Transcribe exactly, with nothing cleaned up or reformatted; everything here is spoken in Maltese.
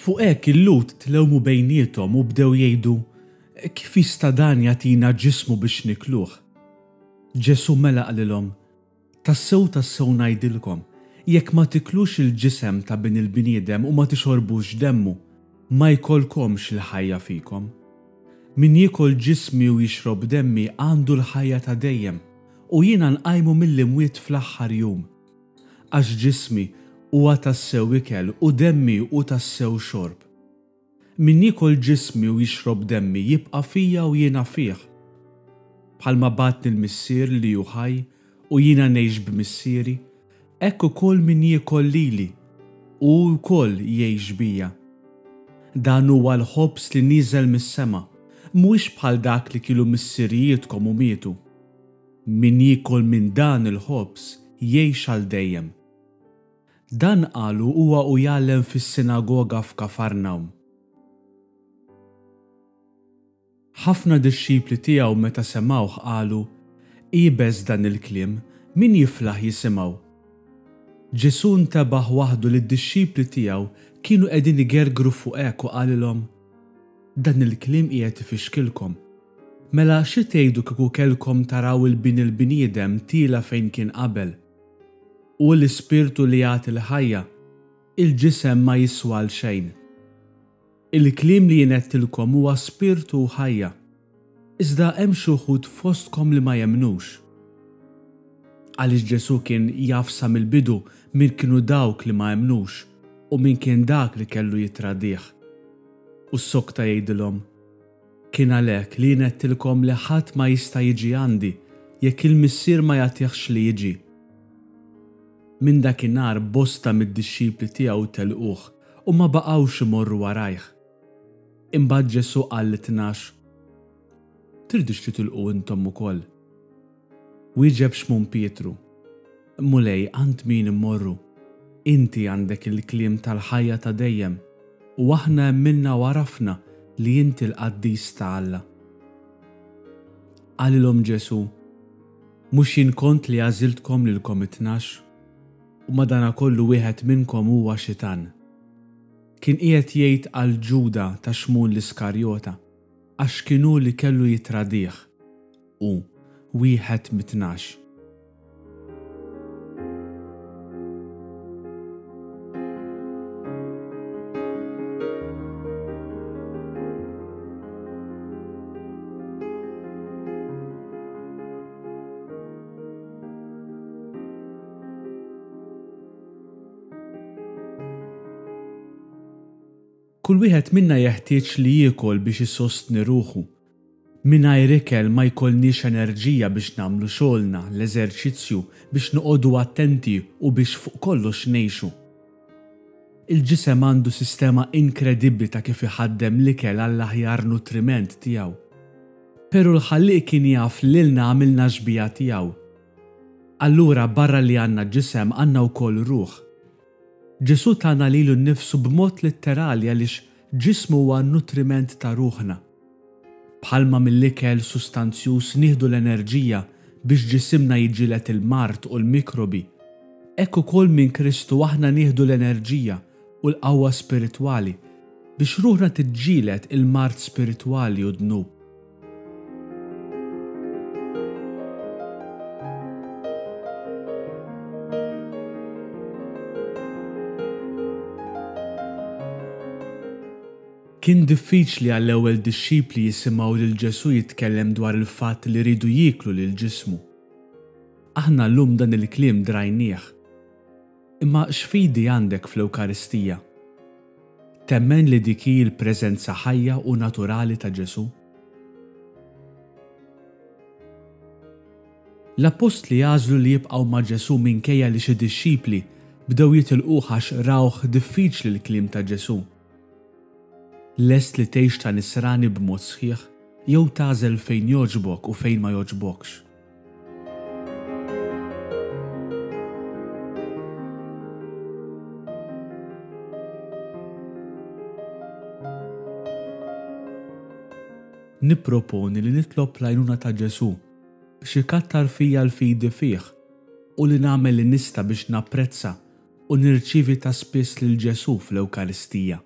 Fuq hekk il-Lhud tlewmu bejniethom u bdew jgħidu, Kif jista' dan jagħtina ġismu biex nikluh? Ġesù mela qalilhom, Tassew tassew ngħidilkom, jekk ma tiklux il-ġisem ta' Bin il-bniedem u ma tixorbux demmu, ma jkollkomx il-ħajja fikom. Min jiekol ġismi u jixrob demmi għandu l-ħajja ta' dejjem, u jiena nqajmu mill-imwiet fl-aħħar jum. Għax ġismi huwa tassew ikel u demmi hu tassew xorb. Min jiekol ġismi u jixrob demmi jibqa' fija u jiena fih. Bħalma bagħatni l-Missier li hu ħaj u jiena ngħix b'Missieri, hekk ukoll min jiekol lili, hu wkoll jgħix bija. Dan huwa l-ħobż li nieżel mis-sema, mhuwiex bħal dak li kielu missirijietkom u mietu. Min jiekol minn dan il-ħobż jgħix għal dejjem. Dan qalu huwa u jgħallem fis-sinagoga f'Kafarnawm. Ħafna dixxipli tiegħu meta semgħuh qalu, Iebes dan il-kliem, min jiflaħ jisimgħu? Ġesù ntebaħ waħdu li d-dixxipli tiegħu kienu qegħdin igergru fuq hekk u qalilhom, Dan il-kliem qiegħed ifixkilkom. Mela xi tgħidu kieku kellkom taraw il-Bin il-bniedem tiela' fejn kien qabel? Hu l-Ispirtu li jagħti l-ħajja, il-ġisem ma jiswa għal xejn. Il-kliem li jien għedtilkom huwa spirtu u ħajja. Iżda hemm xi wħud fostkom li ma jemmnux. Għaliex Ġesù kien jaf sa mill-bidu min kienu dawk li ma emmnux u min kien dak li kellu jittradih. U ssokta jgħidilhom, Kien għalhekk li jien għedtilkom li ħadd ma jista' jiġi għandi jekk il-Missier ma jagħtihx li jiġi. Minn dakinhar bosta mid-dixxipli tiegħu telquh u ma baqgħux imorru warajh. Imbagħad Ġesù qal lit-Tnax, Tridux titilqu intom ukoll? Wieġeb Xmun Pietru, Mulej, għand min immorru? Inti għandek il-kliem tal-ħajja ta' dejjem, u aħna emminna u għarafna li inti l-Qaddis ta' Alla. Qalilhom Ġesù, Mhux jien kont li għażiltkom lilkom it-tnax? U madanakollu wieħed minnkom huwa xitan. Kien qiegħed jgħid għal Ġuda ta' Xmun l-Iskarjota, għax kien hu li kellu jittradih, hu, wieħed mit-tnax. Kull wieħed minna jeħtieġ li jiekol biex isostni ruħu. Mingħajr ikel ma jkollniex enerġija biex nagħmlu xogħolna, l-eżerċizzju, biex noqogħdu attenti u biex fuq kollox ngħixu. Il-ġisem għandu sistema inkredibbli ta' kif iħaddem l-ikel għall-aħjar nutriment tiegħu. Pero l-Ħallieq kien jaf lilna għamilna xbieha tiegħu. Allura barra li għandna ġisem għandna wkoll ruħ. Ġesù tana lilu nnifsu b'mod litterali għaliex ġismu huwa nutriment ta' ruħna. Bħalma mill-ikel sustanzjuż nieħdu l-enerġija biex ġisimna jiġġieled il-mard u l-mikrobi, hekk ukoll minn Kristu aħna nieħdu l-enerġija u l-qawwa spiritwali biex ruħna tiġġieled il-mard spiritwali u dnub. Kien diffiċli għall-ewwel dixxipli jisimgħu lil Ġesù jitkellem dwar il-fatt li rridu jieklu lil ġismu. Aħna llum dan il-kliem drajnieh. Imma x'fidi għandek fl-Ewkaristija? Temmen li dik hi l-preżenza ħajja u naturali ta' Ġesù? L-appostli għażlu li jibqgħu ma' Ġesù minkejja li xi dixxipli bdew jitilquh għax rawh diffiċli l-kliem ta' Ġesù. Lest li tgħix ta' nisrani b'mod sħiħ jew tagħżel fejn jogħġbok u fejn ma jogħġbokx. Nipproponi li nitlob l-għajnuna ta' Ġesù biex ikattar fija l-fidi fih u li nagħmel li nista' biex napprezza u nirċievi ta' spiss lil Ġesù fl-Ewkaristija.